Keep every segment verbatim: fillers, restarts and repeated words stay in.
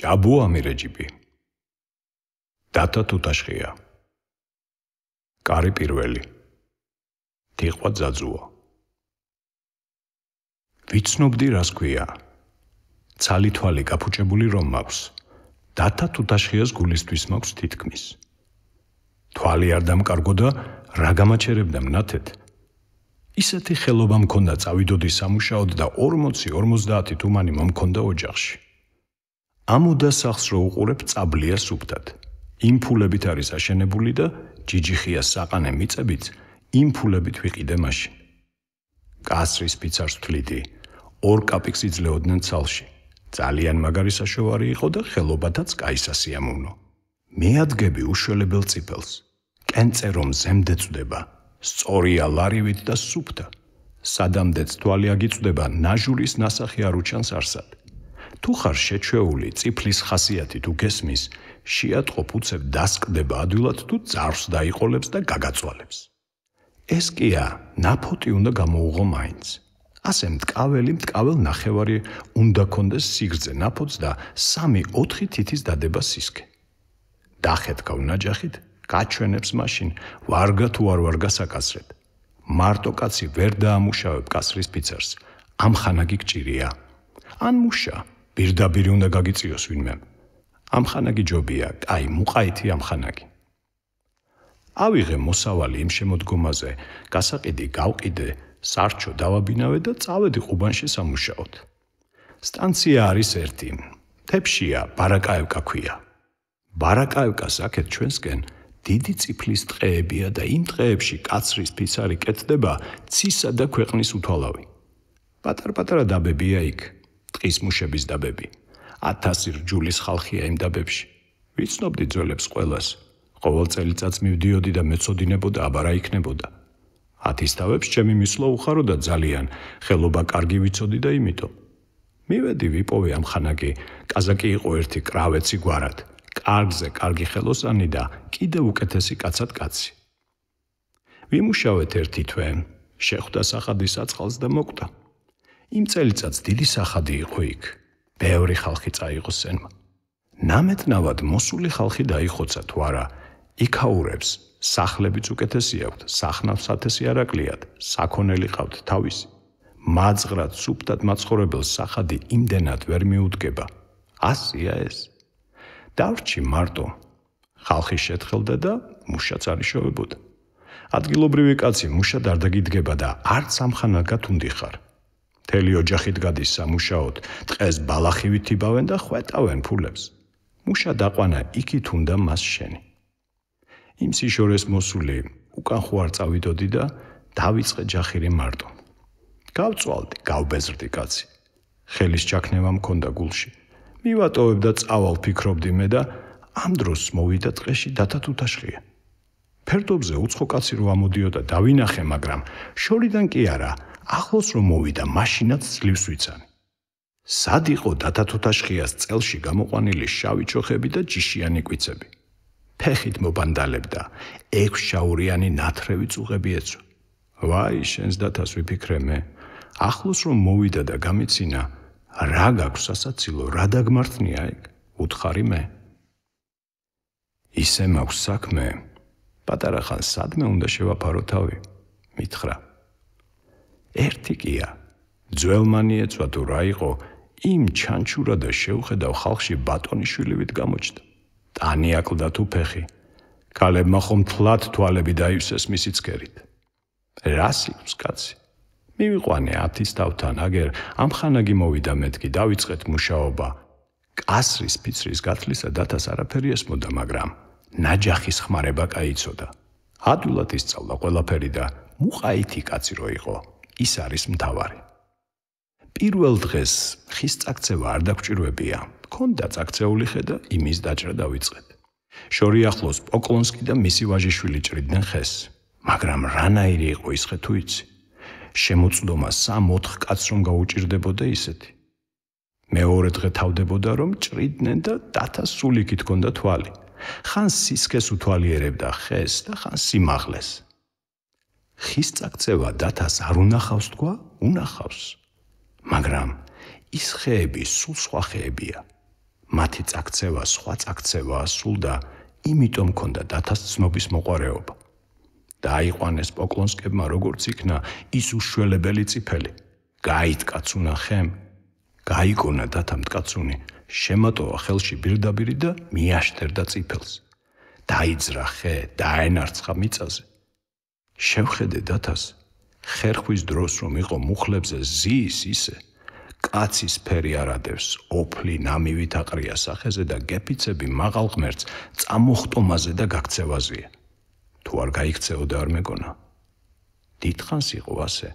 ჭაბუ ამირეჯიბი. დათა თუთაშხია. კარი პირველი. თიყვა ძაძუა. ვიცნობდი რას ქვია. ცალი თვალი გაფუჭებული რომ მაქვს. დათა თუთაშხიას გულისთვის მაქვს თითქმის. თვალი არ დამკარგო და რა გამაჩერებდა მნათეთ. ისეთი ხელობა მქონდა წავიდოდი სამუშაოდ და ორმოცი ორმოცდაათი თუმანი მომქონდა ოჯახში. ამოდა სახლს რო უყურებ წაბლია სუფთად. იმ ფულებით არის აშენებული და ჯიჯიხიას საყანე მიწებით იმ ფულებით ვიყიდე მაშინ. კასრის ფიცარს ვთლიდი, ორ კაპიკს იძლეოდნენ ცალში. ძალიან მაგარი საშოვარი იყო და ხელობათაც კაი სასიამოვნო. მეადგები უშველებელ წიფელს. კენწე რომ ზემდე წვდება, სწორია ლარივით და სუფთა. სადამდეც თვალი აგიწვდება, ნაჟურის ნასახი არ უჩანს არსად. თუ ხარ შეჩვეული წიფლის ხასიათი თუ გესმის, შეატყო ფუცებ დასკდება ადვილად თუ ძარს დაიყოლებს და გაგაწვალებს. ეს კია ნაფოტი უნდა გამოუღო მაინც. ასე მტკაველი მტკაվել ნახევარი უნდა კონდეს სიგრძე ნაფოტს და სამი ოთხი თითის დადება სისქე. დახეთქავ ნაჯახით, გაჩვენებს მაშინ, ვარგა თუ არ ვარგა საკასრეთ. მარტო კაცი ვერ დაამუშავებ კასრის ფიცარს, ამხანაგი გჭირია. ან მუშა, პირდაპირ უნდა გაგიწიოს ვინმე. ამხანაგი ჯობია, კაი მუყაითი ამხანაგი. ავიღე მოსავალი იმ შემოდგომაზე, გასაყიდი გავყიდე, სარჩო დავაბინავე და წავედი ყუბანში სამუშაოდ. სტანცია არის ერთი, თეფშია ბარაკაევკა ქვია. ბარაკაევკას აქეთ ჩვენსკენ დიდი წიფლის ტყეებია და იმ ტყეებში კაცრის ფიცარი კეთდება ცისა და ქვეყნის უთვალავი. პატარ-პატარა დაბებია იქ, ტყის მუშების დაბები. ათასი რჯულის ხალხია იმ დაბებში. ვიცნობდი ძველებს ყველას. ყოველ წელიწადს მივდიოდი და მეცოდინებოდა აბა რა იქნებოდა. ათისთავებს ჩემი მისვლა უხაროდა ძალიან, ხელობა კარგი ვიცოდი და იმიტომ. მივედი ვიპოვე ამხანაგი, კაზაკი იყო ერთი კრავეცი გვარად. კარგზე კარგი ხელოსანი და კიდევ უკეთესი კაცად კაცი. ვიმუშავეთ ერთი თვე, შეხვდა სახადი საწყალს და მოკვდა. იმ წელიწადს დიდი სახადი იყო იქ. ბევრი ხალხი წაიღო სენმა. ნამეტნავად მოსული ხალხი დაიხოცა თუ არა, იქაურებს, სახლებიც უკეთესი აქვთ, სახნავს ათესი არ აკლიათ, საქონელი ყავთ თავისი. მაძღრად სუფთად მაცხოვრებელ სახადი იმდენად ვერ მიუდგება. ასია ეს. დავრჩი მარტო. ხალხი შეთხელდა და მუშაც არ იშოვებოდა. ადგილობრივი კაცი მუშად არ დაგიდგება და არც ამხანაგად უნდი ხარ. მთელი ოჯახით გადის სამუშაოდ, ტყეს ბალახივით იბავენ და ხვეტავენ ფულებს. მუშა დაყვანა იქით უნდა მას შენი. იმ სიშორეს მოსული უკან ხო არ წავიდოდი და დავიწყე ჯახირი მარტო. გავწვალდი, გავბეზრდი კაცი. ხელის ჩაქნევა მქონდა გულში. მივატოვებ და წავალ ფიქრობდი მე და ამ დროს მოვიდა ტყეში დათა თუთაშხია. ფერდობზე უცხო კაცი რო ამოდიოდა დავინახე, მაგრამ შორიდან კი არა, ახლოს რომ მოვიდა, მაშინაც ძლივს ვიცანი. სად იყო დათა თუთაშხიას წელში გამოყვანილი შავი ჩოხები და ჯიშიანი კვიცები. ფეხით მობანდალებდა, ექვსშაურიანი ნათრევი წუღები ეცვა. ვაი, შენს დათას ვიფიქრე მე. ახლოს რომ მოვიდა და გამიცინა, რა გაქვს სასაცილო, რა დაგმართნია ეგ? უთხარი მე. ისე მაქვს საქმე, პატარა ხან სადმე უნდა შევაფარო თავი, მითხრა. ერთი კია, ძველმანი ეცვა თუ რა იყო, იმ ჩანჩურა და შევხედავ ხალხში ბატონიშვილივით გამოჩნდა. ტანი აკლდა თუ ფეხი. ქალებმა ხომ თლად თვალები დაივსეს მისი ცქერით. რა სიკვს კაცი? მივიყვანე ათისთავთან, აგერ ამხანაგი მოვიდა მეთქი, დავიწყეთ მუშაობა. კასრის ფიცრის გათლისა დათას არაფერი ესმოდა, მაგრამ ნაჯახის ხმარება კაიცოდა. ადვილად ისწავლა ყველაფერი და მუყაითი კაცი რო იყო, ის არის მთავარი. პირველ დღეს ხის წაქცევა არ დაგჭირვებია, მქონდა წაქცეული ხე და იმის დაჭრა დავიწყეთ. შორი ახლოს პოკლონსკი და მისი ვაჟიშვილი ჭრიდნენ ხეს, მაგრამ რანაირი იყო ის ხე თუ იცი? შემოწდომა სამ-ოთხ კაცს რომ გაუჭირდებოდა ისეთი. მეორე დღე თავდებოდა რომ ჭრიდნენ და დათას სულიქით ჰქონდა თვალი. ხან სისქეს უთვალიერებდა ხეს და ხან სიმაღლეს. ხის წაქცევა დათას არ უნახავს თქვა? უნახავს. მაგრამ ის ხეები სულ სხვა ხეებია. მათი წაქცევა სხვა წაქცევაა სულ და იმიტომ ჰქონდა დათას ცნობის მოყვარეობა. დაიყვანეს პოკლონსკებმა როგორც იქნა ის უშველებელი წიფელი. გაიტკაცუნა ხემ, გაიგონა დათა მტკაცუნი, შემატოვა ხელში ბირდაბირი და მიაშტერდა წიფელს. დაიძრა ხე, დაენარცხა მიწაზე. შევხედე დათას, ხერხვის დროს რომ იყო მუხლებზე ზის ისე, კაცის ფერი არადევს, ოფლი ნამივით აყრია სახეზე და გეფიცები მაღალ ღმერთს წამოხტომაზე და გაქცევაზია. თუ არ გაიქცეოდა არ მეგონა. დიდხანს იყო ასე.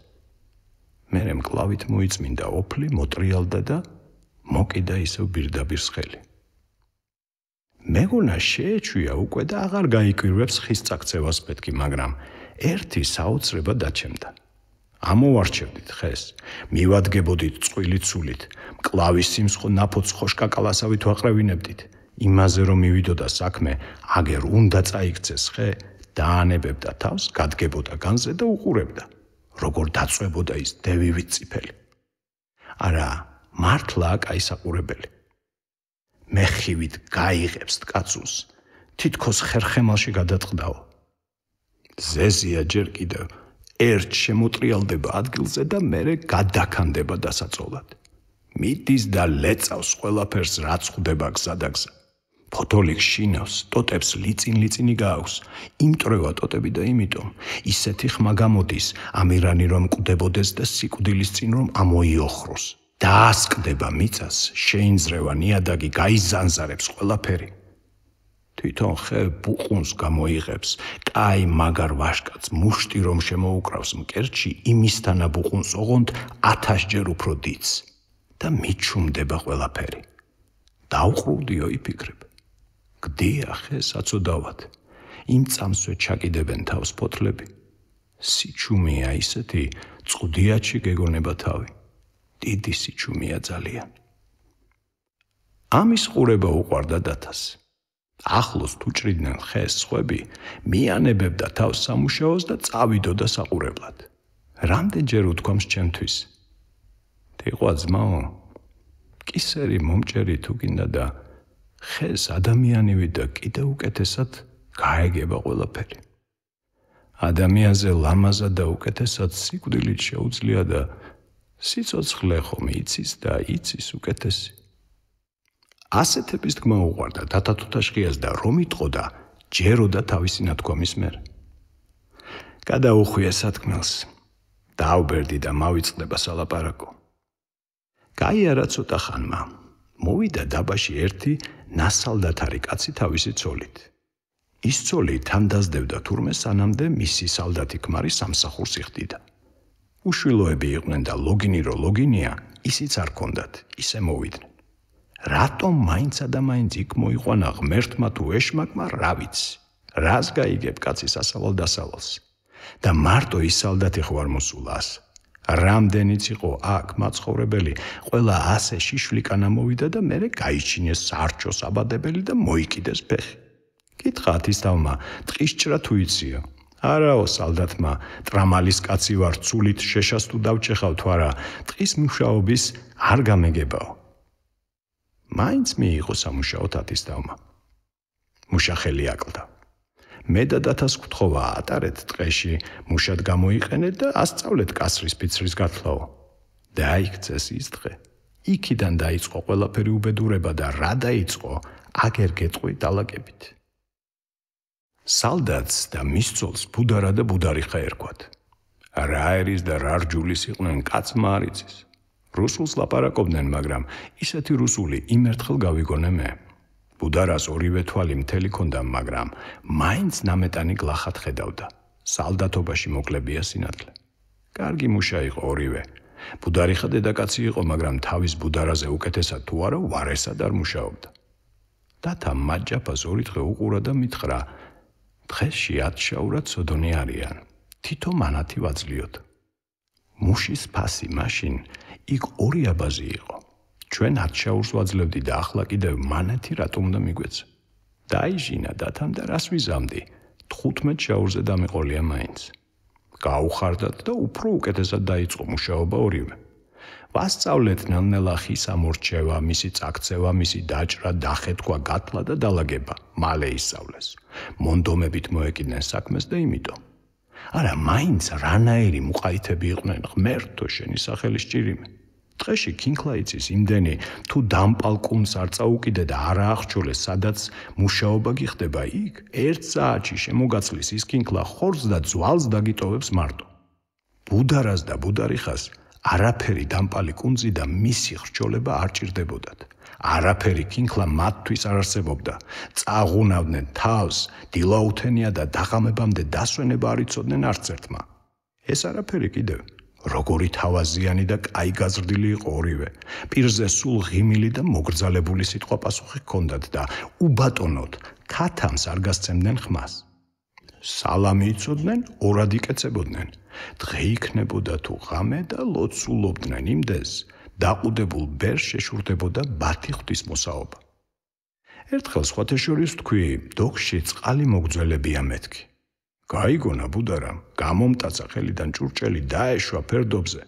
მერე მკლავით მოიწმინდა ოფლი, მოტრიალდა და მოკიდა ისევ ბირდაბირს ხელი. მეგონა შეეჩვია უკვე და აღარ გაიკვირვებს ხის წაქცევას պետքի, მაგრამ ერთი საოცრება დაჩემდა. ამოვარჩევდით ხეს, მივადგებოდით წყვილი ცულით, მკლავის სიმსხო ნაფოც ხოშკაკალასავით ვაყრევინებდით. იმაზე რომ მივიდოდა საქმე, აგერ უნდა წაიქცეს ხე, დაანებებდა თავს, გადგებოდა განზე და უყურებდა, როგორ დაწვებოდა ის დევივით წიფელი. არა, მართლა კაი საყურებელი. მეხივით გაიღებს ткаცულს, თითქოს ხერხემალში გადაწყდაო. ზეზია ჯერ კიდევ ერთ შემოტრიალდება ადგილზე და მერე გადაქანდება დასაწოლად. მიდის და ლეწავს ყველაფერს რაც ხვდება გზადაგზა. ფოთოლი შინავს, ტოტებს ლიწინ-ლიწინი გააქვს. იმტრევა ტოტები და იმიტომ ისეთი ხმა გამოდის, ამირანი რომ კვდებოდეს და სიკვდილის წინ რომ ამოიოხროს. დაასკდება მიწას, შეინძრევა ნიადაგი, გაიზანზარებს ყველაფერი. თვითონ ხე ბუყუნს გამოიღებს, კაი მაგარ ვაშკაც მუშტი რომ შემოუკრავს მკერდში, იმისთანა ბუყუნს ოღონდ ათასჯერ უფრო დიდს და მიჩუმდება ყველაფერი. დაუყრუდიო იფიქრებ. გდია ხე საწოდავად, იმ წამსვე ჩაკიდებენ თავს ფოთლები. სიჩუმეა ისეთი, წყდიაჩი გეგონება თავი. დიდი სიჩუმეა ძალიან. ამის ყურება უყვარდა დათას. ახლოს თუ ჭრიდნენ ხეს სხვები, მიანებებდა თავს სამუშაოს და წავიდოდა საყურებლად. რამდენჯერ უთქვამს ჩემთვის. თიყვა ძმაო, კისერი მომჭერი თუ გინდა და ხეს ადამიანივი და კიდევ უკეთესად გაეგება ყველაფერი. ადამიანზე ლამაზად და უკეთესად სიკვდილით შეუძლია და სიცოცხლე ხომ იცის და იცის უკეთესი. ასეთების თქმა უყვარდა დათა თუთაშხიას და რომ იტყოდა, ჯეროდა თავისი ნათქვამის მერე. გადაუხვია სათქმელს, დააუბერდი და მავიწყდება სალაპარაკო. გაიარა ცოტა ხანმა, მოვიდა დაბაში ერთი ნასალდათარი კაცი თავისი ცოლით. ის ცოლი თან დასდევდა თურმე სანამდე მისი სალდათი ქმარი სამსახურს იხდიდა. უშვილოები იყვნენ და ლოგინი რო ლოგინია, ისიც არ ქონდათ, ისე მოვიდნენ. რატომ მაინცა და მაინც იქ მოიყვანა ღმერთმა თუ ეშმაკმა, რა ვიცი. რას გაიგებ კაცის ასავალ დასავალს. და მარტო ის სალდათი ხوار მოსულას. რამდენიც იყო აქ მაცხოვრებელი, ყველა ასე შიშვლიკანა მოვიდა და მერე გაიჩინეს სარჩოს აბადებელი და მოიკიდეს ფეხი. კითხა ათისთავმა, ტყისჭრა თუ იციო. არაო სალდათმა, ტრამალის კაცი ვარ, ცულით შეშას თუ დავჭეხავ თუ არა, ტყის მუშაობის არ გამეგებაო. მაინც მიიღო სამუშაოდ ათისთავმა. მუშახელი აკლდა. მე და დათას გთხოვა ატარეთ ტყეში, მუშად გამოიყენეთ და ასწავლეთ კასრის ფიცრის გათლაო. დაიქცეს ის დღე. იქიდან დაიწყო ყველაფერი უბედურება და რა დაიწყო, აგერ გეტყვი დალაგებით. სალდათს და მის ცოლს ბუდარა და ბუდარიხა ერქვათ. რა ერის და რა რჯულის იყვნენ კაცმა არ იცის. რუსულს ლაპარაკობდნენ, მაგრამ ისეთი რუსული იმერთხელ გავიგონე მე. ბუდარას ორივე თვალი მთელი ქონდა, მაგრამ მაინც ნამეტანი გლახად ხედავდა. სალდათობაში მოკლებია სინათლე. კარგი მუშა იყო ორივე. ბუდარიხა დედაკაცი იყო, მაგრამ თავის ბუდარაზე უკეთესად თუ არა ვარესად არ მუშაობდა. დათა მაჯაფას ორი დღე უყურა და მითხრა, დღეში ათშაურად სოდონი არიან. თითო მანათი ვაძლიოთ. მუშის ფასი მაშინ იქ ორი აბაზი იყო. ჩვენ ათშაურს ვაძლევდი და ახლა კიდევ მანათი რატომ უნდა მიგვეცა. დაიჟინა დათამ და რას ვიზამდი, თხუთმეტ შაურზე დამეყოლია მაინც. გაუხარდათ და უფრო უკეთესად დაიწყო მუშაობა ორივე. ვასწავლეთ ნელ-ნელა ხის ამორჩევა, მისი წაქცევა, მისი დაჭრა, დახეთქვა, გათლა და დალაგება. მალე ისწავლეს. მონდომებით მოეკიდნენ საქმეს და იმიტომ. არა, მაინც რანაირი მუყაითები იყვნენ, ღმერთო შენი სახელი სჭირიმე. დღეში ქინქლა იცის იმდენი, თუ დამპალ კუნს არ წაუკიდე და არა აღჭოლეს, სადაც მუშაობა გიხდება იქ, ერთ საათში შემოგაცლის ის ქინქლა ხორცს და ძვალს დაგიტოვებს მარტო. ბუდარას და ბუდარიხას არაფერი დამპალი კუნძი და მისი ხრჩოლება არ ჭირდებოდათ. არაფერი ქინქლა მათთვის არ არსებობდა. წაღუნავდნენ თავს, დილაუთენია და დაღამებამდე დასვენება არ იცოდნენ არც ერთმა. ეს არაფერი კიდევ როგორი თავაზიანი და კაი გაზრდილი იყო ორივე. პირზე სულ ღიმილი და მოგრძალებული სიტყვა პასუხი ჰქონდათ და უბატონოდ ქათამს არ გასცემდნენ ხმას. სალამი იცოდნენ, ორად იკეცებოდნენ. დღე იქნებოდა თუ ღამე და ლოცულობდნენ იმდეს, დაყუდებულ ბერს შეშურდებოდა ბათი ღვთისმოსაობა. ერთხელ სხვათა შორის ვთქვი, დოქში წყალი მოგძველებია მეთქი. გაიგონა ბუდარამ, გამომტაცა ხელიდან ჭურჭელი დაეშვა ფერდობზე.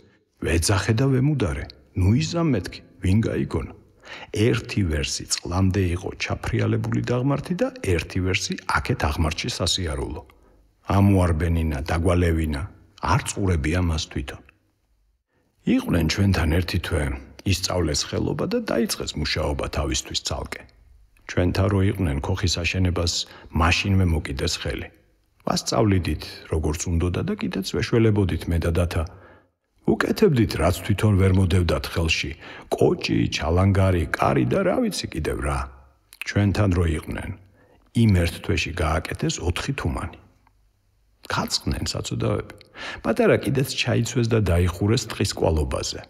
ვეძახე და ვემუდარე, ნუ იზამ მეთქი, ვინ გაიგონა. ერთი ვერსი წყლამდე იყო ჩაფრიალებული დაღმართი და ერთი ვერსი აქეთ აღმართში სასიარულო. ამუარბენინა, დაგვალევინა, არ წურებია მას თვითონ. იყვნენ ჩვენთან ერთი თვე, ისწავლეს ხელობა და დაიწყეს მუშაობა თავისთვის ცალკე. ჩვენთან რო იყვნენ ქოხის აშენებას მაშინვე მოკიდეს ხელი. ვასწავლიდით, როგორც უნდოდა და კიდეც ვეშველებოდით მე და დათა. უკეთებდით, რაც თვითონ ვერ მოდევდათ ხელში, კოჭი, ჩალანგარი, კარი და რა ვიცი კიდევ რა. ჩვენთან რო იყვნენ, იმ ერთ თვეში გააკეთეს ოთხი თუმანი. გაწყდნენ საწოდავები. პატარა კიდეც ჩაიცვეს და დაიხურეს ტყის კვალობაზე.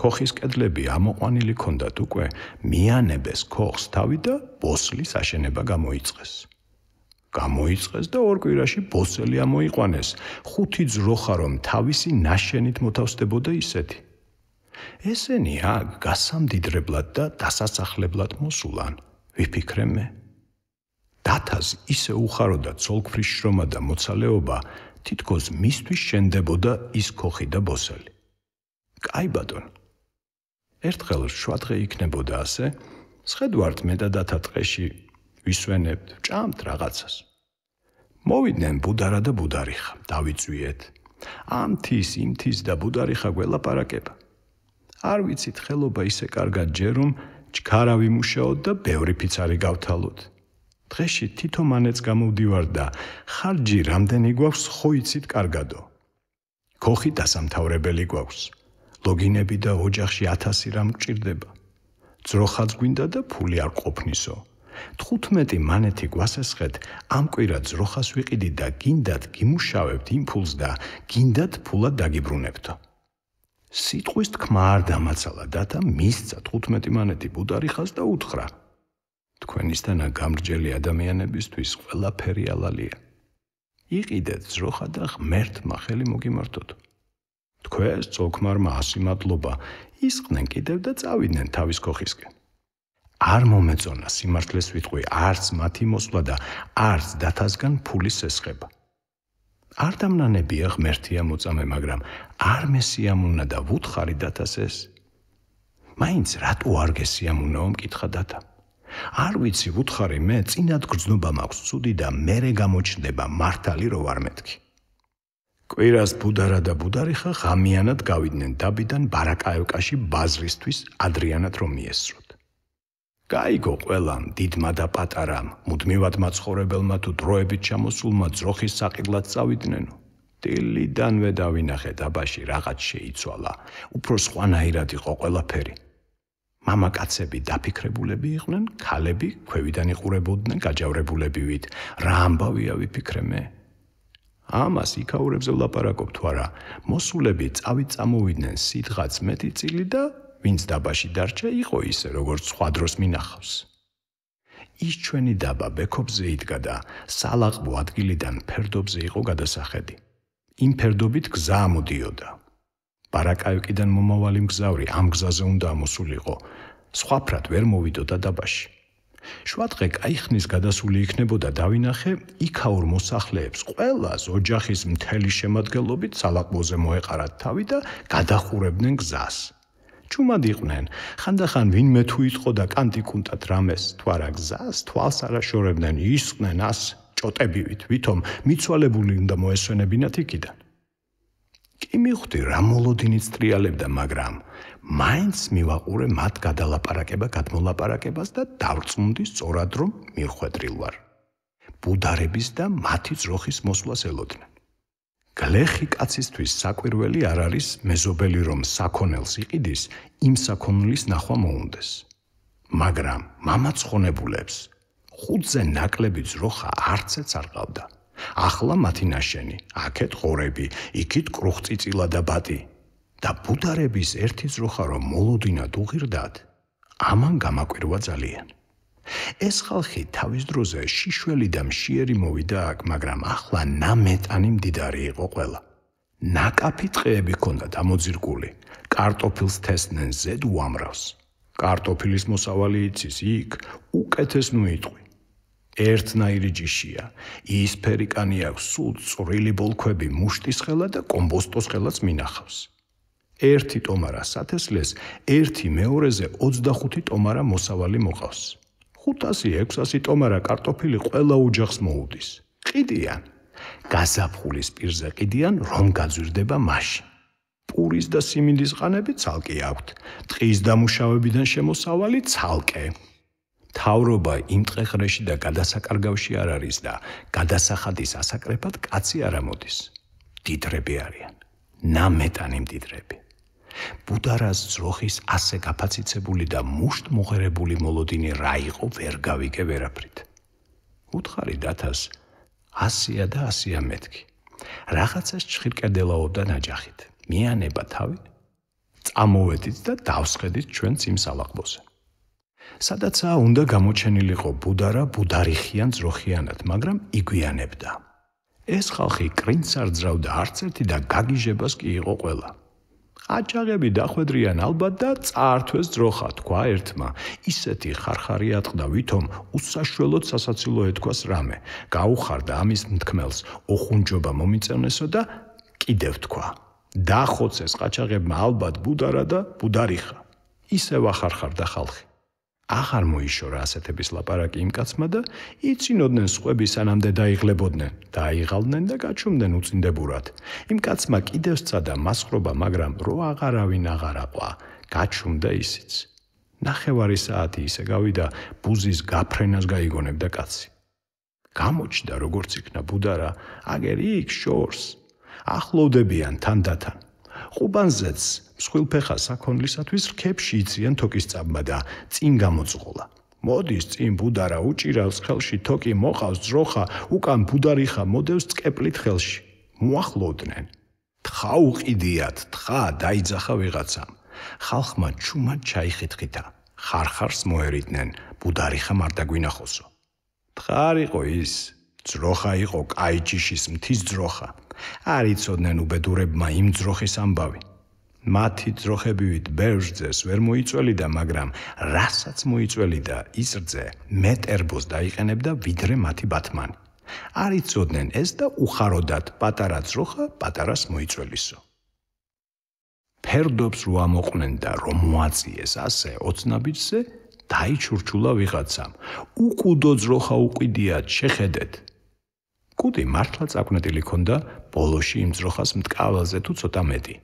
ქოხის კედლები ამოყვანილი ქონდათ უკვე, მიანებეს ქოხს თავი და ბოსლის აშენება გამოიწყეს. გამოიწყეს და ორ კვირაში ბოსელი ამოიყვანეს, ხუთი ძროხა რომ თავისი ნაშენით მოთავსდებოდა ისეთი. ესენი აქ გასამდიდრებლად და დასასახლებლად მოსულან, ვიფიქრე მე. დათას ისე უხაროდა ცოლქვრის შრომა და მოცალეობა, თითქოს მისთვის შენდებოდა ის ქოხი და ბოსელი. კაი ბატონო. ერთხელ შუადღე იქნებოდა ასე, სხედვართ მე და დათა ტყეში ვისვენებთ, ჭამთ რაღაცას. მოვიდნენ ბუდარა და ბუდარიხა, დავიწვიეთ. ამთის, იმთის და ბუდარიხა გველაპარაკება. არ ვიცით ხელობა ისე კარგად ჯერ რომ ჩქარა ვიმუშაოთ და ბევრი ფიცარი გავთალოთ. დღეში თითო მანეც გამოვდივარ და ხარჯი რამდენი გვაქვს ხო იცით კარგადო. ქოხი დასამთავრებელი გვაქვს. ლოგინები და ოჯახში ათასი რამ გჭირდება. ძროხაც გვინდა და ფული არ ყოფნისო. თხუთმეტი მანეთი გვასესხეთ, ამ კვირა ძროხას ვიყიდი და გინდათ გიმუშავებთ იმ ფულს და გინდათ ფულად დაგიბრუნებთო. სიტყვის თქმა არ დამაცალა დათა მისცა თხუთმეტი მანეთი ბუდარიხას და უთხრა. თქვენისთანა გამრჯელი ადამიანებისთვის ყველაფერი ალალია. იყიდეთ ძროხა და ღმერთმა ხელი მოგიმართოთ. თქვენს წოლქმარმა ასი მადლობა, ისყნენ კიდევ და წავიდნენ თავის ქოხისკენ. არ მომეწონა სიმართლეს ვიტყვი, არც მათი მოსვლა და არც დათასგან ფულის ესხება. არ დამნანებია ღმერთია მოწამე, მაგრამ არ მესიამუნა და ვუთხარი დათას ეს. მაინც რატო არ გესიამუნაო, მკითხა დათა. არ ვიცი, ვუთხარი მე, წინად გრძნობა მაქვს ცუდი და მერე გამოჩნდება მართალი რო ვარ მეთქი. კვირას ბუდარა და ბუდარიხა ღამიანად გავიდნენ დაბიდან ბარაკაევკაში ბაზრისთვის ადრიანად რომ მიესწროთ. გაიგო ყველამ, დიდმა და პატარამ, მუდმივად მაცხოვრებელმა თუ დროებით ჩამოსულმა ძროხის საყიდლად წავიდნენ. დილიდანვე დავინახე დაბაში რაღაც შეიცვალა, უფრო სხვანაირად იყო ყველაფერი. მამაკაცები დაფიქრებულები იყვნენ, ქალები ქვევიდან იყურებოდნენ გაჯავრებულებივით. რა ამბავია ვიფიქრე მე? ამას იქაურებზე ვლაპარაკობთ ვარა, მოსულები წავით წამოვიდნენ სიტღაც მეტი წილი და ვინც დაბაში დარჩა იყო ისე, როგორც სხვა დროს მინახავს. ის ჩვენი დაბა ბექობზე იდგა და სალაყბო ადგილიდან ფერდობზე იყო გადასახედი. იმ ფერდობით გზა ამოდიოდა. ბარაკაევკიდან მომავალი მგზავრი ამ გზაზე უნდა ამოსულიყო, სხვაფრად ვერ მოვიდოდა დაბაში. შუადღე კაი ხნის გადასული იქნებოდა დავინახე, იქაურ მოსახლეებს ყველას ოჯახის მთელი შემადგენლობით სალაყბოზე მოეყარათ თავი და გადახურებდნენ გზას. ჭუმად იყვნენ, ხანდახან ვინმე თუ იტყო და კანტიკუნტად რამეს, თუ არა გზას, თვალს არ აშორებდნენ, ისხდნენ ას ჭოტებივით, ვითომ მიცვალებული უნდა მოესვენებინათ იქიდან. კი მივხვდი რა მოლოდინიც ტრიალებდა, მაგრამ მაინც მივაყურე მათ გადალაპარაკება გადმოლაპარაკებას და დავწუნდი სწორად რომ მიხვედრილ ვარ. ბუდარების და მათი ძროხის მოსვლას ელოდნენ. გლეხი კაცისთვის საკვირველი არ არის მეზობელი რომ საქონელს იყიდის, იმ საქონლის ნახვა მოუნდეს. მაგრამ მამაცხონებულებს ხუთზე ნაკლები ძროხა არცეც არ ყავდა. ახლა მათი ნაშენი, აქეთ ღორები, იქით კრუხწიწილა და ბატი. და ბუდარების ერთი ძროხა რომ მოლოდინად უღირდათ, ამან გამაკვირვა ძალიან. ეს ხალხი თავის დროზე შიშველი და მშიერი მოვიდა აქ, მაგრამ ახლა ნამეტანი მდიდარი იყო ყველა. ნაკაფი ტყეები ჰქონდათ ამოძირკული, კარტოფილს თესდნენ ზედ უამრავს. კარტოფილის მოსავალი იცის იქ, უკეთეს ნუიტყვი. ერთნაირი ჯიშია, იისფერი კანი აქვს, სულ წვრილი ბოლქვები, მუშტის ხელა და კომბოსტოს ხელაც მინახავს. ერთი ტომარა სათესლეს, ერთი მეორეზე ოცდახუთი ტომარა მოსავალი მოყავს. ხუთასი ექვსასი ტომარა კარტოფილი ყველა ოჯახს მოუდის. ყიდიან. გაზაფხულის პირზე ყიდიან, რომ გაძვირდება მაშინ. პურის და სიმინდის ყანები ცალკე აქვთ. ტყის დამუშავებიდან შემოსავალი ცალკე. თავრობა იმ ტყეყრეში და გადასაკარგავში არ არის და გადასახადის ასაკრეფად კაცი არ ამოდის. დიდრები არიან. ნამეტანი მდიდრები. ბუდარას ძროხის ასე გაფაციცებული და მუშტ მოღერებული მოლოდინი რა იყო ვერ გავიგე ვერაფრით. უთხარი დათას ასია და ასია მეთქი. რაღაცას ჩხირკედელაობდა ნაჯახით. მიანება თავი. წამოვედით და დავსხედით ჩვენც იმ სალაყბოზე. სადაცაა უნდა გამოჩენილიყო ბუდარა ბუდარიხიან ძროხიანად, მაგრამ იგვიანებდა. ეს ხალხი კრინც არ ძრავდა არც ერთი და გაგიჟებას კი იყო ყველა. ყაჩაღები დახვედრიან ალბათ და წაართვეს ძროხა, თქვა ერთმა. ისეთი ხარხარი ატყდა, ვითომ უსაშველოდ სასაცილო ეთქვას რამე. გაუხარდა ამის მთქმელს, ოხუნჯობა მომიწევნესო და კიდევ თქვა. დახოცეს ყაჩაღებმა ალბათ ბუდარა და ბუდარიხა. ისევ ახარხარდა ხალხი. აღარ მოიშორა ასეთების ლაპარაკი იმ კაცმა და იცინოდნენ სხვები სანამდე დაიღლებოდნენ, დაიღალდნენ და გაჩუმდნენ უწინდებურად. იმ კაცმა კიდევ სცადა მასხრობა, მაგრამ რო აღარავინ აღარ აყვა, გაჩუმდა ისიც. ნახევარი საათი ისე გავიდა, ბუზის გაფრენას გაიგონებდა კაცი. გამოჩნდა როგორც იქნა ბუდარა, აგერ იქ შორს. ახლოვდებიან თანდათან. ყუბანზეც მსხვილფეხა საქონლისათვის რქებში იციან თოკის წაბმა და წინ გამოწყოლა. მოდის წინ ბუდარა უჭირავს ხელში თოკი მოყავს ძროხა, უკან ბუდარიხა მოდევს წკეპლით ხელში. მოახლოვდნენ. თხა უყიდიათ, თხა დაიძახა ვიღაცამ. ხალხმა ჩუმად ჩაიხითხითა. ხარხარს მოერიდნენ, ბუდარიხა არ დაგვინახოსო. თხარ იყო ის, ძროხა იყო კაი ჯიშის მთის ძროხა. არ იცოდნენ უბედურებმა იმ ძროხის ამბავი. მათი ძროხებივით ბევრს ვერ მოიწველიდა, მაგრამ რასაც მოიწველიდა ის რძე მეტერბოს დაიყენებდა ვიდრე მათი ბათმანი. არ იცოდნენ ეს და უხაროდათ პატარა ძროხა პატარას მოიწველისო. ფერდობს რო ამოყვნენ და რომ მოაწიეს ასე ოცნაბიჯზე, დაიჩურჩულა ვიღაცამ. უკუდო ძროხა უყიდიათ, შეხედეთ. კუდი მართლა წაკვნეტილი ქონდა, ბოლოში იმ ძროხას მტკაველზე თუ ცოტა მეტი.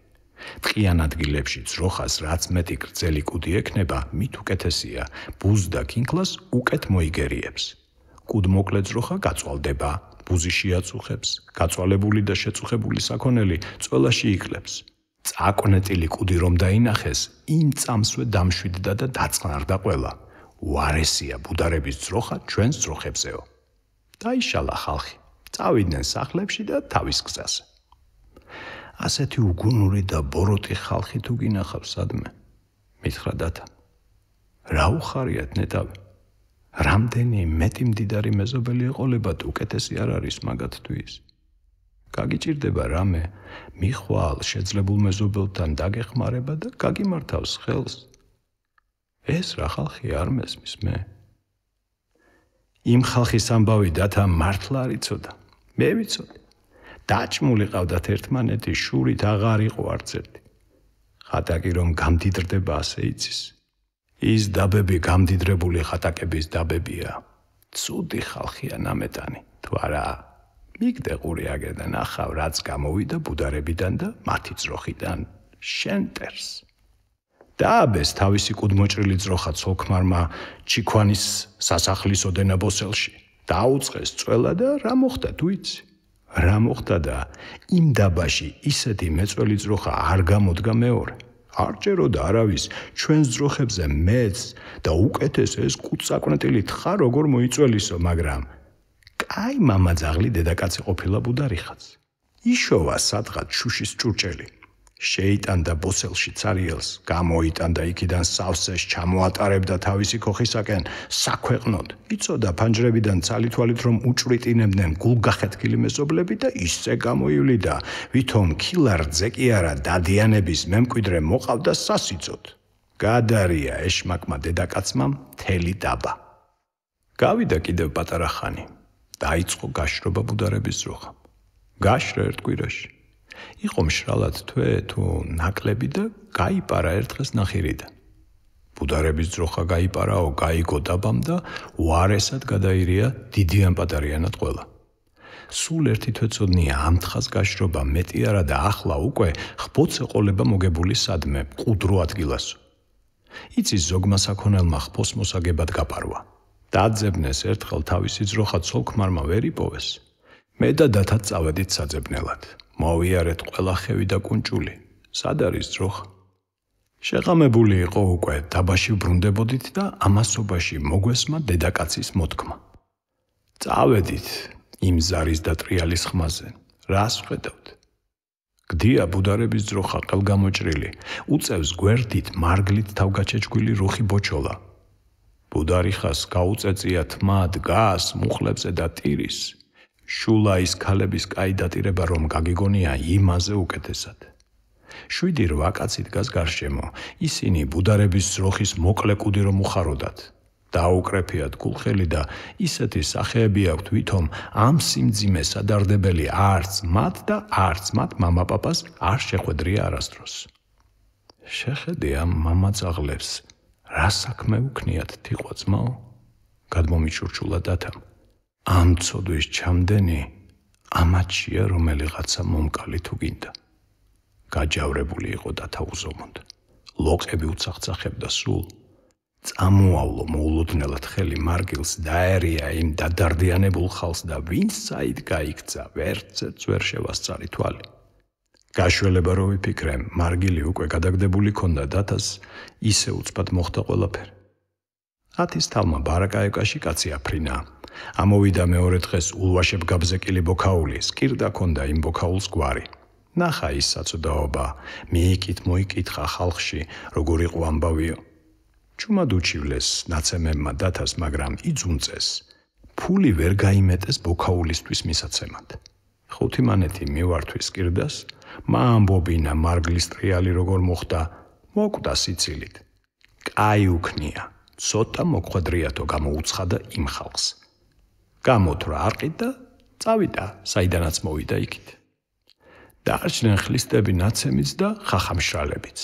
ტყიან ადგილებში ძროხას რაც მეტი გრძელი კუდი ექნება, მით უკეთესია, ბუზ და კინკლას უკეთ მოიგერიებს. კუდმოკლე ძროხა გაწვალდება, ბუზი შეაწუხებს, გაწვალებული და შეწუხებული საქონელი წველაში იკლებს. წაკვნეტილი კუდი რომ დაინახეს, იმ წამსვე დამშვიდდა და დაწყნარდა ყველა. უარესია ბუდარების ძროხა ჩვენს ძროხებზეო. დაიშალა ხალხი. წავიდნენ სახლებში და თავის გზაზე. ასეთი უგუნური და ბოროტი ხალხი თუ გინახავს სადმე, მითხრა დათა. რა უხარიათ ნეტავი? რამდენი მეტი მდიდარი მეზობელი ეყოლებათ, უკეთესი არ არის მაგათთვის. გაგიჭირდება რამე, მიხვალ შეძლებულ მეზობელთან დაგეხმარება და გაგიმართავს ხელს. ეს რა ხალხი არ მესმის მე. იმ ხალხის ამბავი დათა მართლა არ იცოდა. მე ვიცოდი. დაჭმული ყავდათ ერთმანეთი, შურით აღარ იყო არც ერთი. ხატაკი რომ გამდიდრდება ასე იცის. ის დაბები გამდიდრებული ხატაკების დაბებია. ცუდი ხალხია ნამეტანი, თუ არა. მიგდე ყური აგერდან ახავ რაც გამოვიდა ბუდარებიდან და მათი ძროხიდან შენტერს. დააბეს თავისი კუდმოჭრილი ძროხა ცოლქმარმა ჩიქვანის სასახლის ოდენა ბოსელში. დაუწყეს წველა და რა მოხდა თუ იცი? რა მოხდა და იმ დაბაში ისეთი მეწველი ძროხა არ გამოდგა მეორე. არ ჭეროდა არავის ჩვენს ძროხებზე მეც და უკეთეს ეს კუცაკვნეტილი თხა როგორ მოიწველისო, მაგრამ კაი მამაძაღლი დედაკაცი ყოფილა ბუდარიხაც. იშოვა სადღაც შუშის ჭურჭელი. შეიტანდა ბოსელში ცარიელს, გამოიტანდა იქიდან სავსეს, ჩამოატარებდა თავისი ქოხისაკენ საქვეყნოდ. იცოდა ფანჯრებიდან ცალითვალით რომ უჭვრიტინებდნენ გულგახეთქილი მეზობლები და ისე გამოივლიდა, ვითომ ქილარძე კი არა დადიანების მემკვიდრე მოყავდა სასიცოდ. გადარია ეშმაკმა დედაკაცმა მთელი დაბა. გავიდა კიდევ პატარა ხანი. დაიწყო გაშრობა ბუდარების ძროხამ. გაშრა ერთ კვირაში. იყო მშრალად თვე თუ ნაკლები და გაიპარა ერთხეს ნახირიდან. ბუდარების ძროხა გაიპარაო, გაიგო დაბამ და უარესად გადაირია დიდიან პატარიანად ყველა. სულ ერთი თვეწოდნია ამ თხას გაშრობა მეტი არა და ახლა უკვე ხბოც ეყოლება მოგებული სადმე მყუდრო ადგილასო. იცის ზოგმა საქონელმა ხბოს მოსაგებად გაპარვა. დაძებნეს ერთხელ თავისი ძროხა ცოლქმარმა ვერ იპოვეს. მე და დათაც წავედით საძებნელად. მოვიარეთ ყველა ხევი და კუნჭული. სად არის ძროხა? შეღამებული იყო უკვე, დაბაში ბრუნდებოდით და ამასობაში მოგვესმა დედაკაცის მოთქმა. წავედით იმ ზარის და ტრიალის ხმაზე. რას ვხედავთ? გდია ბუდარების ძროხა ყელგამოჭრილი, უწევს გვერდით მარგლით თავგაჩეჩგვილი რუხი ბოჩოლა. ბუდარიხას გაუწეწია თმა დგას მუხლებზე და ტირის. შულაის ქალების კაი დატირება რომ გაგიგონია იმაზე უკეთესად. შვიდი რვა კაცი დგას გარშემო, ისინი ბუდარების ძროხის მოკლე კუდი რომ უხაროდათ. დაუკრეფიათ გულხელი და ისეთი სახეები აქვთ, ვითომ ამ სიმძიმეს ადარდებელი არც მათ და არც მათ მამაპაპას არ შეხვედრია არასდროს. შეხედე ამ მამაძაღლებს, რა საქმე უქნიათ თიყვა ძმაო? გადმომიჩურჩულა დათამ. ამ ცოდვის ჩამდენი ამაჩია რომელიღაცა მომკალი თუ გინდა. გაჯავრებული იყო დათა უზომოდ. ლოყები უცახცახებდა სულ. წამოავლო მოულოდნელად ხელი მარგილს დაერია იმ დადარდიანებულ ხალს და ვინც საით გაიქცა, ვერცერც ვერ შევასწარი თვალი. გაშველება რო ვიფიქრე, მარგილი უკვე გადაგდებული ქონდა დათას, ისე უცბად მოხდა ყველაფერი. ათის თავმა ბარაკაევკაში კაცი აფრინა. ამოვიდა მეორე დღეს ულვაშებ გაბზეკილი ბოქაული, სკირდა ქონდა იმ ბოქაულს გვარი. ნახა ის საწოდაობა, მიიკით მოიკითხა ხალხში, როგორ იყო ამბავიო. ჩუმად უჩივლეს ნაცემებმა დათას, მაგრამ იძუნწეს. ფული ვერ გაიმეტეს ბოქაულისთვის მისაცემად. ხუთი მანეთი მივართვის სკირდას, მაამბობინა მარგლის ტრიალი როგორ მოხდა, მოკვდა სიცილით. კაი უქნია, ცოტა მოხვედრიათო გამოუცხადა იმ ხალხს. გამოთვრა არყით და წავიდა, საიდანაც მოვიდა იქით. დაარჩნენ ხლისტები ნაცემიც და ხახამშრალებიც.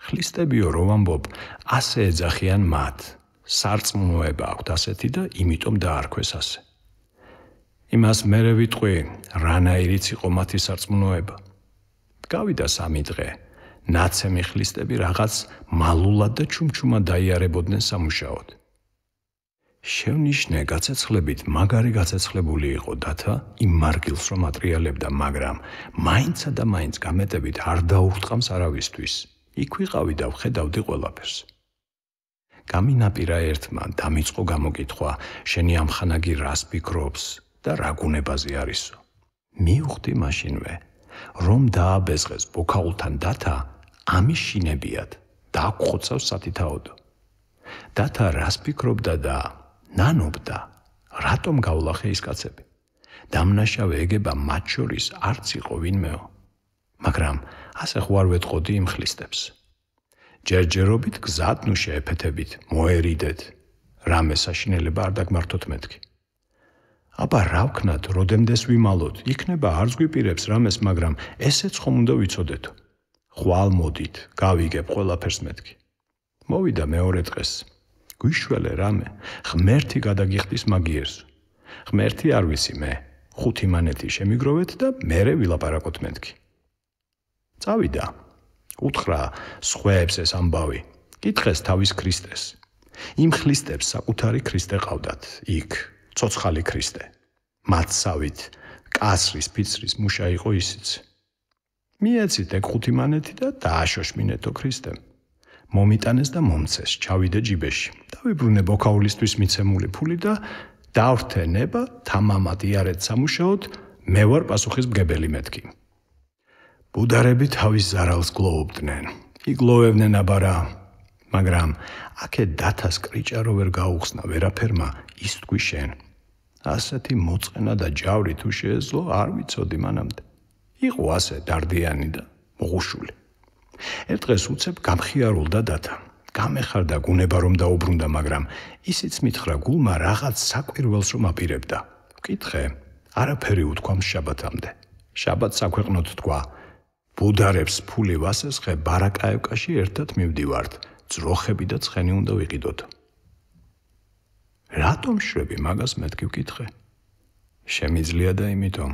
ხლისტებიო რომ ამბობ, ასე ეძახიან მათ. სარწმუნოება აქვთ ასეთი და იმიტომ დაარქვეს ასე. იმას მერე ვიტყვი, რანაირიც იყო მათი სარწმუნოება. გავიდა სამი დღე, ნაცემი ხლისტები რაღაც მალულად და ჩუმჩუმად დაიარებოდნენ სამუშაოდ. შევნიშნე გაცეცხლებით მაგარი გაცეცხლებული იყო დათა იმ მარგილს რომ ატრიალებდა, მაგრამ მაინცა და მაინც გამეტებით არ დაურტყამს არავისთვის. იქ ვიყავი და ვხედავდი ყველაფერს. გამინაპირა ერთმა დამიწყო გამოკითხვა, შენი ამხანაგი რას ფიქრობს და რა გუნებაზე არისო. მივხვდი მაშინვე, რომ დააბეზღეს ბოქაულთან დათა ამის შინებიათ და აკხოცავს სათითაოდო. დათა რას ფიქრობდა და ნანობდა, რატომ გავლახე ის კაცები. დამნაშავე ეგება მათ შორის არც იყო ვინმეო. მაგრამ ასე ხوار ვეთყოდი იმ ხლისტებს. ჯერჯერობით გზად ნუ შეეფეთებით, მოერიდეთ, რამე საშინელება არ დაგმართოთ მეთქი. აბა რა ვქნათ, როდემდეს ვიმალოთ, იქნება არც გვიპირებს რამეს, მაგრამ ესეც ხომ უნდა ვიცოდეთო. ხვალ მოდით, გავიგებ ყველაფერს მეთქი. მოვიდა მეორე დღეს. გვიშველე რამე, ღმერთი გადაგიხდის მაგიერს. ღმერთი არ ვიცი მე, ხუთი მანეთი შემიგროვეთ და მერე ვილაპარაკოთ მეთქი. წავიდა. უთხრა სხვაებს ეს ამბავი. კითხეს თავის ქრისტეს. იმ ხლისტებს საკუთარი ქრისტე ყავდათ, იქ, ცოცხალი ქრისტე. მათსავით, კასრის ფიცრის მუშა იყო ისიც. მიეცით ეგ ხუთი მანეთი და დააშოშმინეთო ქრისტემ. მომიტანეს და მომცეს, ჩავიდე ჯიბეში. დავიბრუნე ბოქაულისთვის მიცემული ფული და დავრთე ნება თამამად იარეთ სამუშაოდ, მე ვარ პასუხისმგებელი მეთქი. ბუდარები თავის ზარალს გლოობდნენ. იგლოვებდნენ აბარა, მაგრამ აქე დათას კრიჭარო ვერ გაუხსნა ვერაფერმა ის თქვი შენ. ასეთი მოწყენა და ჯავრი თუ შეეძლო, არ ვიცოდი მანამდე. იყო ასე დარდიანი და მოღუშული. ერთ დღეს უცებ გამხიარულდა დათა. გამეხარდა გუნება რომ დაუბრუნდა, მაგრამ ისიც მითხრა გულმა რაღაც საკვირველს რომ აპირებდა. ვკითხე, არაფერი უთქვა შაბათამდე. შაბათს საქვეყნოდ თქვა, ბუდარებს ფული ვასესხე ბარაკაევკაში ერთად მივდივართ, ძროხები და ცხენი უნდა ვიყიდოთ. რატომ შრები მაგას მეთქი ვკითხე? შემიძლია და იმითომ,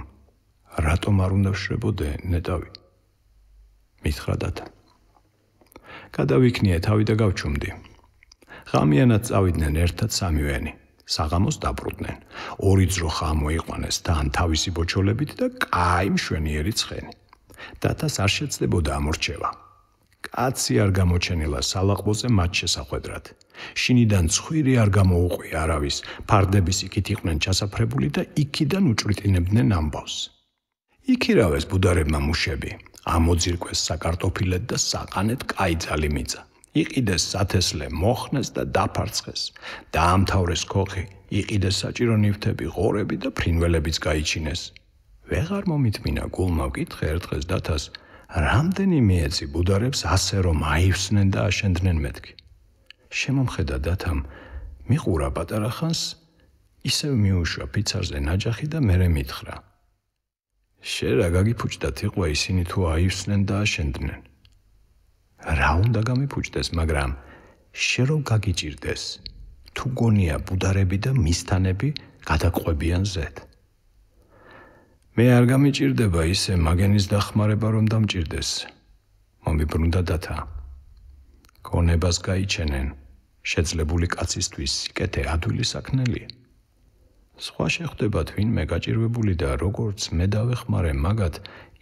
რატომ არ უნდა ვშრებოდე ნეტავი? მითხრა დათა. გადავიქნიე თავი და გავჩუმდი. ღამიანად წავიდნენ ერთად სამივენი. საღამოს დაბრუნდნენ. ორი ძროხა ამოიყვანეს თან თავისი ბოჩოლებით და კაი მშვენიერი ცხენი. დათას არ შეცდებოდა ამორჩევა. კაცი არ გამოჩენილა სალაყბოზე მათ შესახვედრად. შინიდან ცხვირი არ გამოუყვი არავის, ფარდების იქით იყვნენ ჩასაფრებული და იქიდან უჭვრიტინებდნენ ამბავს. იქირავეს ბუდარებმა მუშები. ამოძირკვეს საკარტოფილეთ და საყანეთ კაი ძალი მიწა. იყიდეს სათესლე, მოხნეს და დაფარცხეს. დაამთავრეს ქოხი, იყიდეს საჭირო ნივთები, ღორები და ფრინველებიც გაიჩინეს. ვეღარ მომითმინა გულმა ვკითხე ერთ დღეს დათას, რამდენი მიეცი ბუდარებს ასე რომ აივსნენ და აშენდნენ მეთქი. შემომხედა დათამ, მიყურა პატარა ხანს, ისევ მიუშვა ფიცარზე ნაჯახი და მერე მითხრა. შენ რა გაგიფუჭდათ იყო ისინი თუ აივსნენ და აშენდნენ. რა უნდა გამიფუჭდეს, მაგრამ შენ რომ გაგიჭირდეს, თუ გონია ბუდარები და მისთანები გადაგყვებიან ზედ. მე არ გამიჭირდება ისე მაგენის დახმარება რომ დამჭირდეს. მომიბრუნდა დათა. გონებას გაიჩენენ, შეძლებული კაცისთვის სიკეთე ადვილი საქმნელია. სხვა შეხვდებათ ვინმე გაჭირვებული და როგორც მე დავეხმარე მაგათ,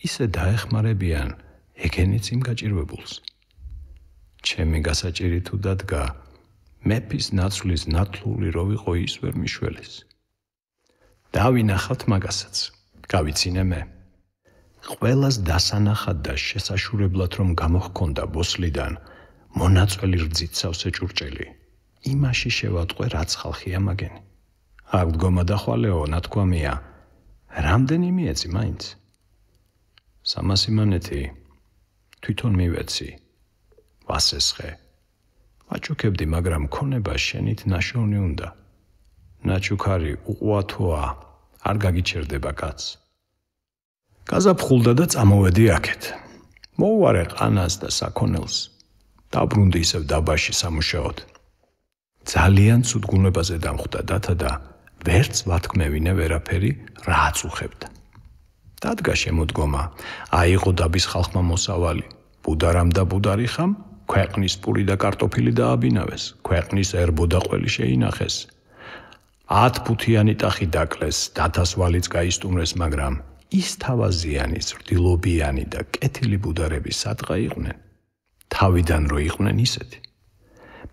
ისე დაეხმარებიან ეგენიც იმ გაჭირვებულს. ჩემი გასაჭირი თუ დადგა, მეფის ნაცვლის ნათლული რო ვიყო ის ვერ მიშველეს. დავინახავთ მაგასაც, გავიცინე მე. ყველას დასანახად და შესაშურებლად რომ გამოჰქონდა ბოსლიდან, მონაწველი რძით სავსე ჭურჭელი, იმაში შევატყვე რაც ხალხია მაგენი. აქ დგომა და ხვალეო, ნათქვამია, რამდენი მიეცი მაინც? სამასი მანეთი, თვითონ მივეცი, ვასესხე. ვაჩუქებდი, მაგრამ ქონება შენით ნაშოვნი უნდა. ნაჩუქარი უყვათოა, არ გაგიჩერდება კაც. გაზაფხულდა და წამოვედი აქეთ. მოუვარე ყანას და საქონელს. დაბრუნდი ისევ დაბაში სამუშაოდ. ძალიან ცუდ გუნებაზე დამხვდა დათა და ვერც ვათქმევინე ვერაფერი რა აწუხებდა. დადგა შემოდგომა, აიღო დაბის ხალხმა მოსავალი, ბუდარამ და ბუდარიხამ, ქვეყნის პური და კარტოფილი დააბინავეს, ქვეყნის ერბო და ყველი შეინახეს. ათფუთიანი ტახი დაკლეს, დათას ვალიც გაისტუმრეს, მაგრამ ის თავაზიანი, ზრდილობიანი და კეთილი ბუდარები სადღა იყვნენ. თავიდან რო იყვნენ ისეთი.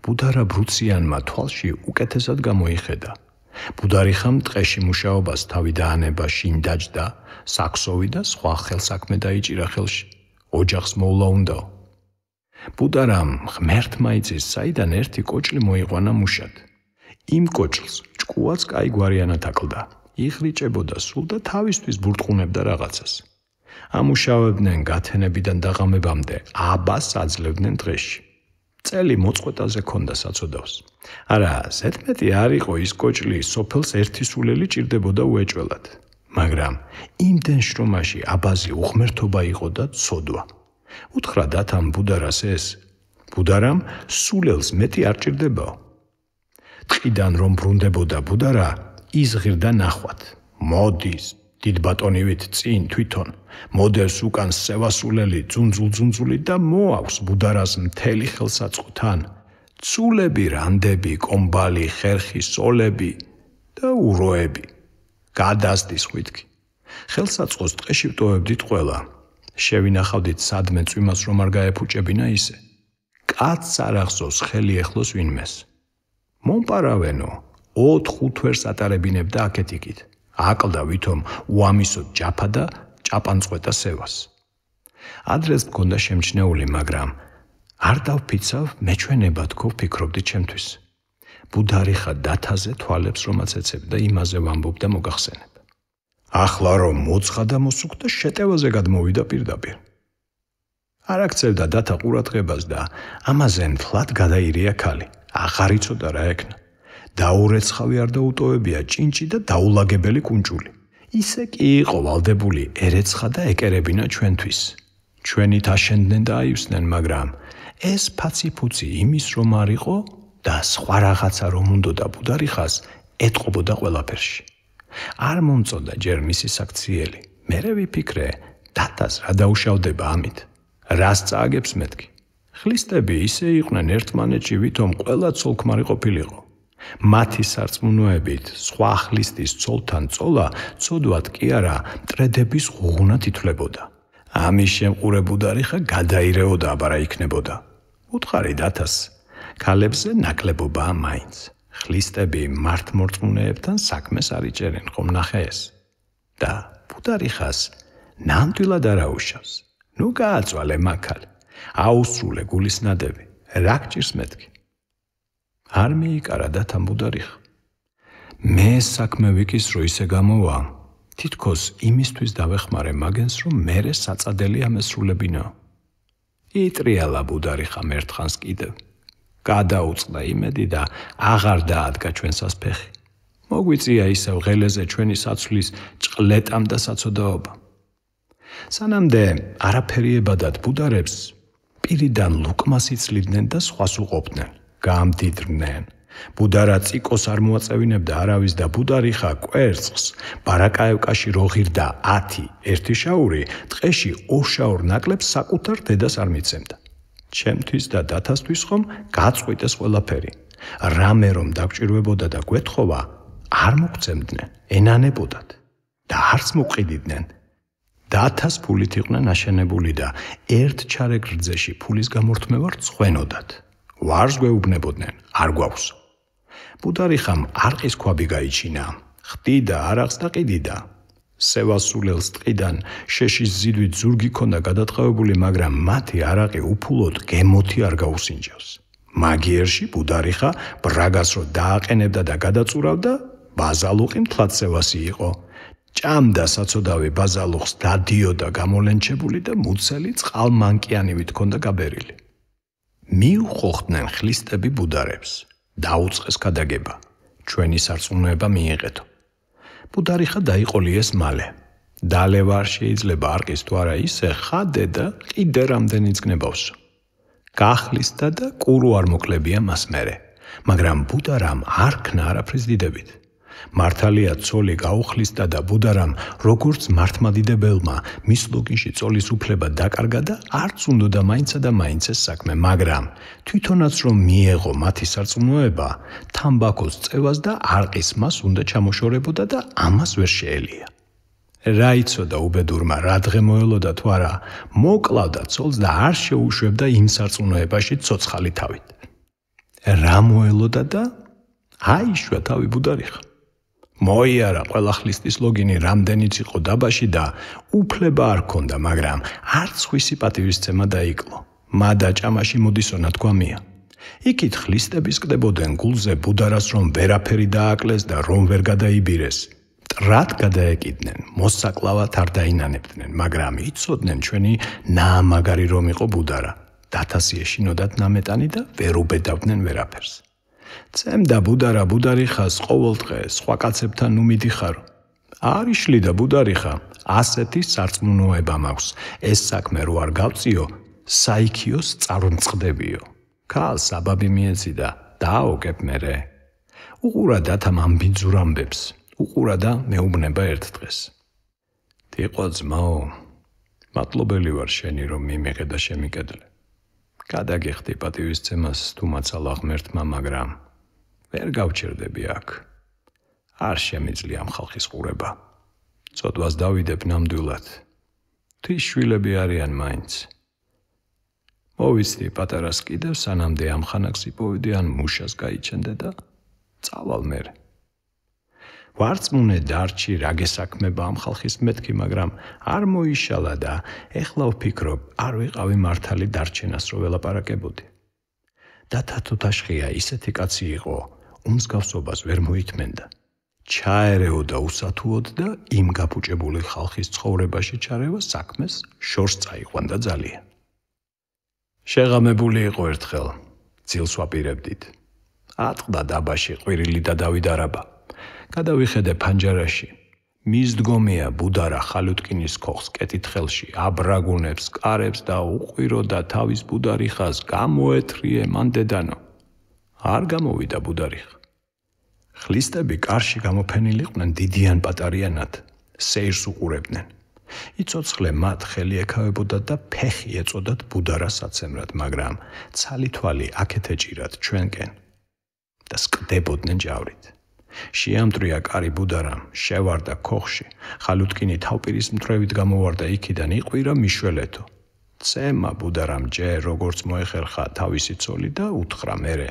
ბუდარა ბრუციანმა თვალში უკეთესად გამოიხედა. ბუდარიხამ ტყეში მუშაობას თავი დაანება შინ დაჯდა, საქსოვი და სხვა ხელსაქმე დაიჭირა ხელში. ოჯახს მოვლა უნდაო. ბუდარამ ღმერთმა იცის, საიდან ერთი კოჭლი მოიყვანა მუშად. იმ კოჭლს ჭკუაც კაი გვარიანად აკლდა. იღრიჭებოდა სულ და თავისთვის ბურტყუნებდა რაღაცას. ამუშავებდნენ გათენებიდან დაღამებამდე, აბას აძლევდნენ დღეში. წელი მოწყვეტაზე ქონდა საწოდავს. არა, ზედმეტი არ იყო ის კოჭლი, სოფელს ერთი სულელი ჭირდებოდა უეჭველად. მაგრამ იმდენ შრომაში აბაზი უღმერთობა იყო და ცოდვა. უთხრა დათამ ბუდარას ეს, ბუდარამ სულელს მეტი არ ჭირდებაო. ტყიდან რომ ბრუნდებოდა ბუდარა, იზღირდა ნახვად. მოდის, დიდ ბატონივით წინ თვითონ, მოდელს უკან სევასულელი ძუნძულ-ძუნძული და მოაქვს ბუდარას მთელი ხელსაწყოთან. ცულები, რანდები, კომბალი, ხერხი, სოლები და უროები. გადასდის ხვითკი. ხელსაწყოს ტყეში ვტოვებდით ყველა. შევინახავდით სადმე წვიმას რომ არ გაეფუჭებინა ისე. კაცს არ ახსოვს ხელი ეხლოს ვინმეს. მომპარავენო, ოთხ-ხუთ ვერს ატარებინებდა აქეთ-იქით. აკლდა ვითომ უამისოდ ჯაფა და ჭაპანწყვეტა სევას. ადრეს მქონდა შემჩნეული, მაგრამ არ დავფიცავ, მეჩვენება თქო ვფიქრობდი ჩემთვის. ბუდარიხა დათაზე თვალებს რომაც ეცებდა, იმაზე ვამბობდა მოგახსენებ. ახლა რომ მოცხა და მოსუქდა, შეტევაზე გადმოვიდა პირდაპირ. არ აქცევდა დათა ყურადღებას და ამაზე მთლად გადაირია ქალი. აღარ იცოდა რა ეკნა. დაურეცხავი არ დაუტოვებია ჭინჭი და დაულაგებელი კუნჭული. ისე კი იყო ვალდებული ერეცხა და ეკერებინა ჩვენთვის. ჩვენით აშენდნენ და აივსნენ, მაგრამ ეს ფაცი-ფუცი იმის რომ არ იყო და სხვა რაღაცა რომ უნდოდა ბუდარიხას ეტყობოდა ყველაფერში. არ მომწოდა ჯერ მისი საქციელი. მერე ვიფიქრე, დათას რა დაუშავდება ამით. რას წააგებს მეთქი. ხლისტები ისე იყვნენ ერთმანეთში, ვითომ ყველა ცოლქმარი ყოფილიყო. მათი სარწმუნოებით სხვა ხლისტის ცოლთან წოლა ცოდვად კი არა მტრედების ღუღუნად ითვლებოდა. ამის შემყურე ბუდარიხა გადაირეოდა აბარა იქნებოდა. უთხარი დათას, ქალებზე ნაკლებობაა მაინც. ხლისტები მართმორწმუნეებთან საქმეს არ იჭერენ, ხომ ნახე ეს. და ბუდარიხას ნამდვილად არ აუშავს. ნუ გააწვალე მაქალი. აუსრულე გულის ნადები. რა გჭირს მეთქი. არ მიიკარა დათამ ბუდარიხა. მე საქმე ვიკისრო ისე გამოვა, თითქოს იმისთვის დავეხმარე მაგენს, რომ მერე საწადელი ამესრულებინაო. იტრიალა ბუდარიხა მერთხანს კიდევ. გადაუწყდა იმედი და აღარ დაადგა ჩვენსას ფეხი. მოგვიწია ისევ ღელეზე ჩვენი საცვლის ჭყლეტამ და საცოდაობა. სანამდე არაფერი ებადათ ბუდარებს, პირიდან ლუკმას იცლიდნენ და სხვას უყოფდნენ. გამდიდრდნენ. ბუდარა წიკოს არ მოაწევინებდა არავის და ბუდარიხა კვერცხს ბარაკაევკაში რო ღირდა ათი ერთი შაური, ტყეში ორ-შაურ ნაკლებს საკუთარ დედას არ მიცემდა. ჩემთვის და დათასთვის ხომ გაწყვიტეს ყველაფერი. რამე რომ დაგჭირვებოდა და გვეთხოვა, არ მოგცემდნენ, ენანებოდათ და არც მოყიდიდნენ. დათას ფულით იყვნენ აშენებული და ერთ ჩარეკ რძეში ფულის გამორთმევა რცხვენოდათ. ვარს გვეუბნებოდნენ, არ გვაქვს. ბუდარიხამ არყის ქვაბი გაიჩინა, ხდიდა არახს და ყიდიდა. სევასულელს ტყიდან შეშის ზიდვით ზურგი ქონდა გადატყავებული, მაგრამ მათი არაყი უფულოდ გემოთი არ გაუსინჯავს. მაგიერში ბუდარიხა ბრაგას რო დააყენებდა და გადაწურავდა, ბაზალუყი მთლად სევასი იყო. ჭამდა საცოდავი ბაზალუხს, დადიოდა გამოლენჩებული და მუცელი წყალმანკიანივით ქონდა გაბერილი. მიუხოხდნენ ხლისტები ბუდარებს. დაუწყეს გადაგება. ჩვენი სარწმუნოება მიიღეთო. ბუდარიხა დაიყოლიეს მალე. დალევა არ შეიძლება არყის თუ არა ისე ხადე და კიდე რამდენიც გნებავსო. გახლისტა და კურო არ მოკლებია მას მერე. მაგრამ ბუდარამ არ ქნა არაფრის დიდებით. მართალია ცოლი გაუხლისტა და ბუდარამ როგორც მართმადიდებელმა მის ლოგინში წოლის უფლება დაკარგა და არც უნდოდა მაინცა და მაინც ეს საქმე, მაგრამ თვითონაც რომ მიეღო მათი სარწმუნოება, თამბაქოს წევას და არყის მას უნდა ჩამოშორებოდა და ამას ვერ შეელია. რა იცოდა უბედურმა რა დღე მოელოდა თუ არა, მოკლავდა ცოლს და არ შეუშვებდა იმ სარწმუნოებაში ცოცხალი თავით. რა მოელოდა და აიშვა თავი ბუდარიხა. მოიარა ყველა ხლისტის ლოგინი რამდენიც იყო დაბაში და უფლება არ ქონდა, მაგრამ არც ხვისი პატივისცემა დაიკლო. მადა ჭამაში მოდისონა თქვამია. იქით ხლისტების კდებოდნენ გულზე ბუდარას რომ ვერაფერი დააკლეს და რომ ვერ გადაიბირეს. მტრად გადაეკიდნენ, მოსაკლავად არ დაინანებდნენ, მაგრამ იცოდნენ ჩვენი ნაამაგარი რომ იყო ბუდარა. დათასი ეშინოდათ ნამეტანი და ვერ უბედავდნენ ვერაფერს. წემდა ბუდარა ბუდარიხას ყოველ დღე სხვა კაცებთან ნუ მიდიხარო. არ იშლიდა ბუდარიხა, ასეთი სარწმუნოება მაქვს. ეს საქმე რო არ გავწიო, საიქიოს წარუმწყდებიო. ქალს საბაბი მიეცი და დააოგებ მერე. უყურა დათამ ამბინძურ ამბებს, უყურა და მეუბნება ერთ დღეს. თიყო ძმაო, მადლობელი ვარ შენი რომ მიმიღე და შემიკედლე. გადაგიხდი პატივისცემას თუ მაცალა ღმერთმა, მაგრამ ვერ გავჩერდები აქ. არ შემიძლია ამ ხალხის ყურება. წოდვას დავიდებ ნამდვილად. თვის შვილები არიან მაინც. მოვიცდი პატარას კიდევ სანამდე ამ ხანაკს იპოვედი ან მუშას გაიჩენდე და წავალ მერე. ვარწმუნე დარჩი რა გესაქმება ამ ხალხის მეთქი, მაგრამ არ მოიშალა და ეხლა ვფიქრობ, არ ვიყავი მართალი დარჩენას რო ველაპარაკებოდი. დათა თუთაშხია ისეთი კაცი იყო, უმსგავსობას ვერ მოითმენდა. ჩაერეოდა უსათუოდ და იმ გაფუჭებული ხალხის ცხოვრებაში ჩარევა საქმეს შორს წაიყვანდა ძალიან. შეღამებული იყო ერთხელ, ძილს ვაპირებდით. ატყდა დაბაში ყვირილი და დავიდა რაბა. გადავიხედე ფანჯარაში. მისდგომია ბუდარა ხალუტკინის ქოხს კეთითხელში, აბრაგუნებს, კარებს და უყვირო და თავის ბუდარიხას გამოეთრიე მან დედანო. არ გამოვიდა ბუდარიხა. ხლისტები კარში გამოფენილიყვნენ დიდიან პატარიანად, სეირს უყურებდნენ. იცოცხლე მათ ხელი ეკავებოდა და ფეხი ეწოდათ ბუდარას აცემრად, მაგრამ ცალი თვალი აქეთ ეჭირათ ჩვენკენ და სკდებოდნენ ჯავრით. შეამტრია კარი ბუდარამ, შევარდა ქოხში, ხალუტკინი თავპირის მთრევით გამოვარდა იქიდან, იყვირა მიშველეთო. წემა ბუდარამ ჯერ როგორც მოეხერხა თავისი ცოლი და უთხრა მერე,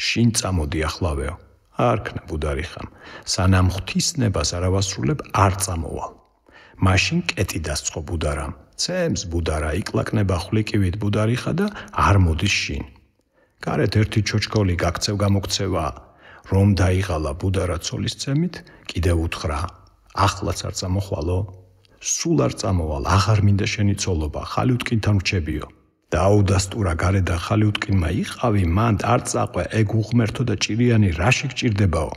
შინ წამოდი ახლავეო. არქნა ბუდარიხამ, სანამ ღვთისნებას არ ავასრულებ, არ წამოვალ. მაშინ კეტი დასწყო ბუდარამ, წემს ბუდარა იკლაკნება ხვლიკივით ბუდარიხა და არ მოდის შინ. გარეთ ერთი ჩოჩქოლი გაქცევ გამოქცევა, რომ დაიღალა ბუდარა ცოლის წემით, კიდევ უთხრა, ახლაც არ წამოხვალო, სულ არ წამოვალ, აღარ მინდა შენი ცოლობა, ხალუტკინთან ვრჩებიო. დაუდასტურა გარეთ და ხალუტკინმა იყავი, მან არ წაყვე, ეგ უღმერთო და ჭირიანი რაში გჭირდებაო.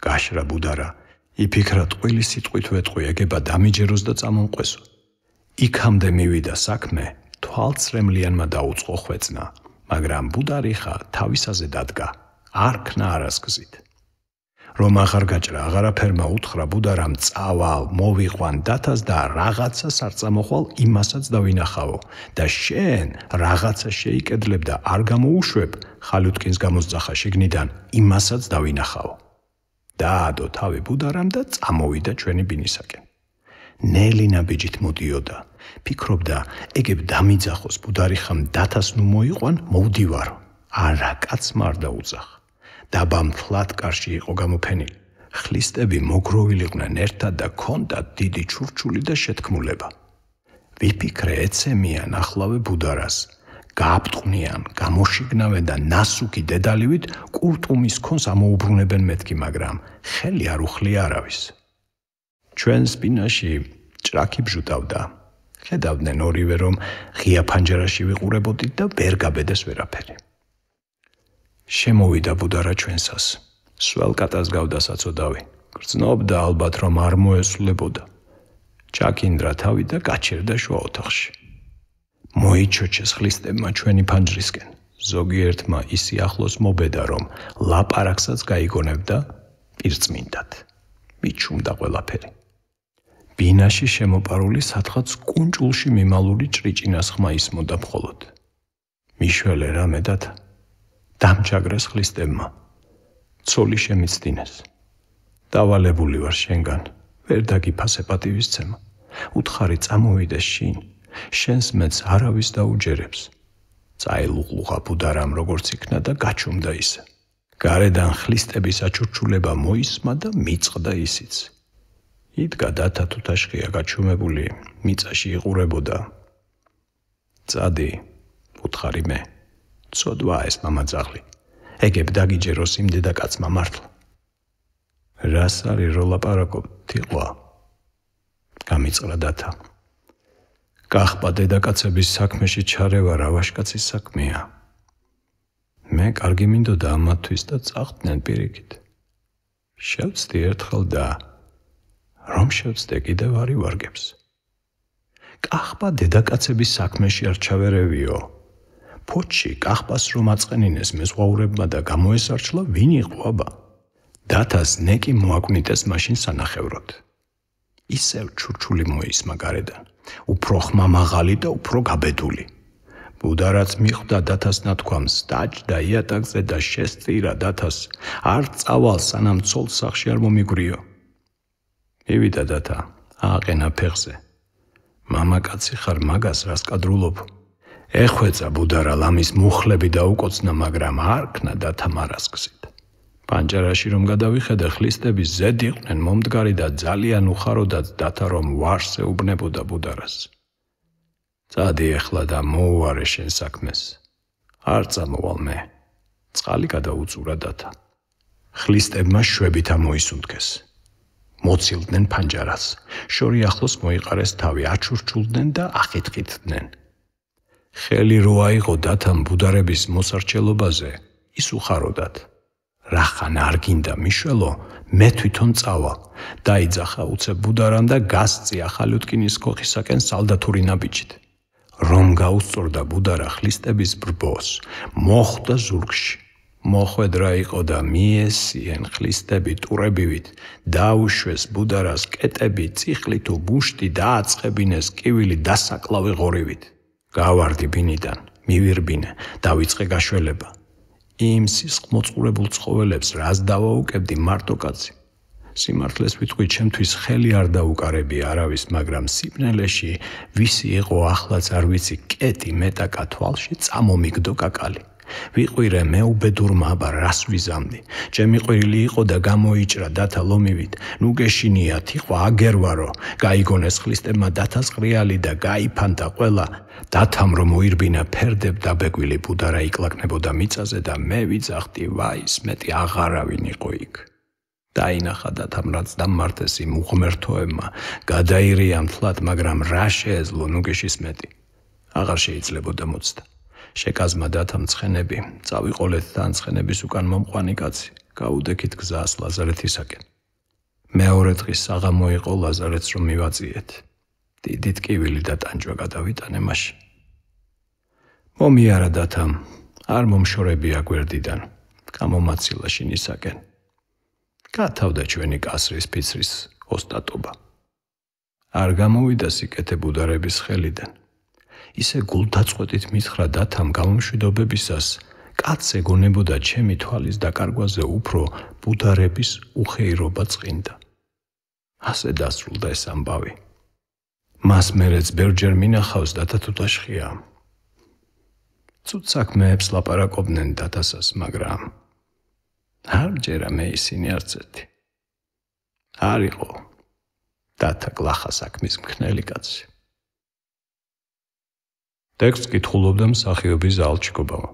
გაშრა ბუდარა, იფიქრა ტყვილი სიტყვით ვეტყვი, ეგება დამიჯეროს და წამომყვესო. იქამდე მივიდა საქმე, თვალწრემლიანმა დაუწყო ხვეწნა, მაგრამ ბუდარიხა თავისაზე დადგა, არ ქნა არასგზით. რომ აღარ გაჭრა, აღარაფერმა უთხრა ბუდარამ, წავალ, მოვიყვან დათას და რაღაცას არ წამოხვალ, იმასაც დავინახავო და შენ რაღაცა შეიკედლებ და არ გამოუშვებ, ხალუტკინს გამოსძახა შიგნიდან, იმასაც დავინახავო. დაადო თავი ბუდარამ და წამოვიდა ჩვენი ბინისაკენ. ნელი ნაბიჯით მოდიოდა, ფიქრობდა, ეგებ დამიძახოს ბუდარიხამ დათას ნუ მოიყვან, მოვდივარო. არა კაცმა არ დაუძახა. დაბა მთლად კარში იყო გამოფენილი. ხლისტები მოგროვილიყვნენ ერთად და ჰქონდათ დიდი ჩურჩული და შეთქმულება. ვიფიქრე ეცემიან ახლავე ბუდარას. გააფტყვნიან, გამოშიგნავენ და ნასუკი დედალივით კურტუმის ქონს ამოუბრუნებენ მეთქი, მაგრამ ხელი არ უხლია არავის. ჩვენ სპინაში ჭრაკი ბჟუტავდა. ხედავდნენ ორივე, რომ ღია ფანჯარაში ვიყურებოდით და ვერ გაბედეს ვერაფერი. შემოვიდა ბუდარა ჩვენსას. სველ კატას გავდა საწოდავი. გრძნობდა ალბათ, რომ არ მოესულებოდა. ჩაკინდრა თავი და გაჩერდა შუა ოთახში. მოიჩოჩეს ხლისტებმა ჩვენი ფანჯრისკენ. ზოგიერთმა ისი ახლოს მობედა, რომ ლაპარაკსაც გაიგონებდა პირწმინდად. მიჩუმდა ყველაფერი. ბინაში შემოპარული სადღაც კუნჭულში მიმალური ჭრიჭინას ხმა ისმოდა მხოლოდ. მიშველე რამე დათა. დამჩაგრეს ხლისტებმა. ცოლი შემიცდინეს. დავალებული ვარ შენგან, ვერ დაგიფასე პატივისცემა. უთხარი წამოვიდეს შინ, შენს მეც არავის დაუჯერებს. წაილუყლუღა ბუდარამ როგორც იქნა და გაჩუმდა ისე. გარედან ხლისტების აჩურჩულება მოისმა და მიწყდა ისიც. იდგა დათა თუთაშხია გაჩუმებული, მიწაში იყურებოდა. წადი, უთხარი მე. ცოდვა ეს მამაძაღლი. ეგებ დაგიჯეროს იმ დედაკაცმა მართლა. რას არის რო ლაპარაკობ, თიყვა? გამიწყდა დათა. გახბა დედაკაცების საქმეში ჩარევა რა ვაშკაცის საქმეა. მე კარგი მინდოდა ამათთვის და წახდნენ პირიქით. შევწდი ერთხელ და რომ შევწდე კიდევ არ ივარგებს. კახპა დედაკაცების საქმეში არ ჩავერევიო. ფოთში კახპას რომ აწყენინეს მეზღვაურებმა და გამოესარჩლა, ვინ იყო აბა? დათას ნეკი მოაკვნიტეს მაშინ სანახევროდ. ისევ ჩურჩული მოისმა გარედან, უფრო ხმამაღალი და უფრო გაბედული. ბუდარაც მიხვდა დათას ნათქვამს, დაჯდა იატაკზე და შესწირა დათას, არ წავალ სანამ ცოლს სახში არ მომიგვრიო. მივიდა დათა, ააყენა ფეხზე. მამაკაცი ხარ, მაგას რას კადრულობ? ეხვეწა ბუდარა ლამის მუხლები დაუკოცნა, მაგრამ არ ქნა დათა მარასკსით. პანჯარაში რომ გადავიხედე, ხლისტები ზედ იყვნენ მომდგარი და ძალიან უხაროდათ დათა რომ ვარს ეუბნებოდა ბუდარას. წადი ეხლა და მოუარე შენ საქმეს. არ წამოვალ მე. წყალი გადაუწურა დათა. ხლისტებმა შვებით ამოისუნთქეს. მოცილდნენ პანჯარას. შორი ახლოს მოიყარეს თავი, აჩურჩულდნენ და ახითხითდნენ. ხელი რო აიღო დათამ ბუდარების მოსარჩელობაზე, ის უხაროდათ. რახან არ გინდა მიშველო, მე თვითონ წავალ. დაიძახა უცებ ბუდარამ და გასწი ახალუტკინის ქოხისაკენ სალდათური ნაბიჯით. რომ გაუსწორდა ბუდარა ხლისტების ბრბოს, მოხვდა ზურგში. მოხვედრა იყო და მიესიენ ხლისტები ტურებივით, დაუშვეს ბუდარას კეტები, წიხლი თუ ბუშტი, დააწყებინეს კივილი დასაკლავი ღორივით. გავარდი ბინიდან, მივირბინე, დავიწყე გაშველება. იმ სისხლმოწყურებულ ცხოველებს რას დავაუკებდი მარტო კაცი? სიმართლეს ვიტყვი, ჩემთვის ხელი არ დაუკარებია არავის, მაგრამ სიბნელეში ვისი იყო ახლაც არ ვიცი, კეტი მეტაკა თვალში წამომიგდო კაკალი. ვიყვირე მე უბედურმა, აბა რას ვიზამდი? ჩემი ყვირილი იყო და გამოიჭრა დათა ლომივით. ნუ გეშინია თიყვა აგერვარო, გაიგონეს ხლისტებმა დათას ყრიალი და გაიფანტა ყველა. დათამ რომ მოირბინა ფერდებ დაბეგვილი ბუდარა იკლაკნებოდა მიწაზე და მე ვიძახდი, ვაის მეტი აღარავინ იყო იქ. დაინახა დათამ რაც დამმართეს იმ უღმერთოებმა, გადაირია მთლად, მაგრამ რა შეეძლო ნუგეშის მეტი. აღარ შეიძლებოდა მოცდა. შეკაზმა დათამ ცხენები, წავიყოლეთ თან ცხენების უკან მომყვანი კაცი, გაუდექით გზას ლაზარეთისაკენ. მეორე დღის საღამო იყო ლაზარეთს რომ მივაწიეთ. დიდი ტკივილი და ტანჯვა გადავიტანე მაშინ. მომიარა დათამ, არ მომშორებია გვერდიდან, გამომაცილა შინისაკენ. გათავდა ჩვენი კასრის ფიცრის ოსტატობა. არ გამოვიდა სიკეთე ბუდარების ხელიდან. ისე გულდაწყვეტით მითხრა დათამ გამომშვიდობებისას, კაც ეგონებოდა ჩემი თვალის დაკარგვაზე უფრო ბუდარების უხეირობა წყინდა. ასე დასრულდა ეს ამბავი. მას მერეც ბევრჯერ მინახავს დათა თუთაშხია. ცუდ საქმეებს ლაპარაკობდნენ დათასას, მაგრამ არ ჯერა მე ისინი არც ერთი. არ იყო დათა გლახა საქმის მქნელი კაცი. ტექსტს კითხულობდა მსახიობი ზაალ ჩიკობავა.